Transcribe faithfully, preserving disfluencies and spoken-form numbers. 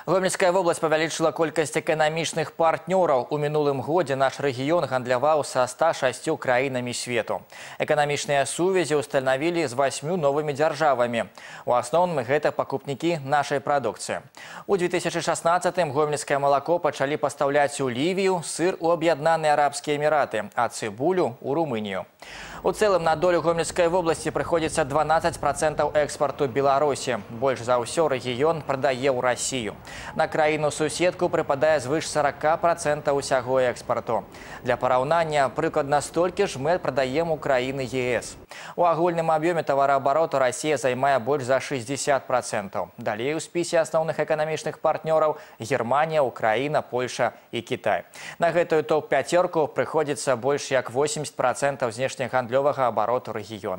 Гомельская область павялічыла колькасць эканамічных партнёраў. У мінулым годзе наш рэгіён гандляваў са ста шасцю краінамі свету. Эканамічныя сувязі ўстанавілі з васьмю новымі дзяржавамі. У асноўным гэта пакупнікі нашай прадукцыі. У две тысячи шестнадцатым гомельскае малако пачалі пастаўляць у Лівію, сыр у Аб'яднаныя Арабскія Эміраты, а цыбулю у Румынію. У цэлым на долю Гомельскай вобласці прыходзіцца дванаццаць процентаў экспарту Беларусі. Больш за ўсё рэгіён прадае ў Расію. На краіну-суседку прыпадае звыш сорока процентаў усяго экспарту. Для параўнання, прыкладна столькі ж мы прадаем у краіны е эс. У агульным аб'ёме тавараабароту Расія займае больш за шестьдесят процентаў. Далей у спісе асноўных эканамічных партнёраў Германія, Украіна, Польша і Кітай. На гэтую топ-пяцёрку прыходзіцца больш як восемьдесят процентаў знешнегандлёвага абароту рэгіёна.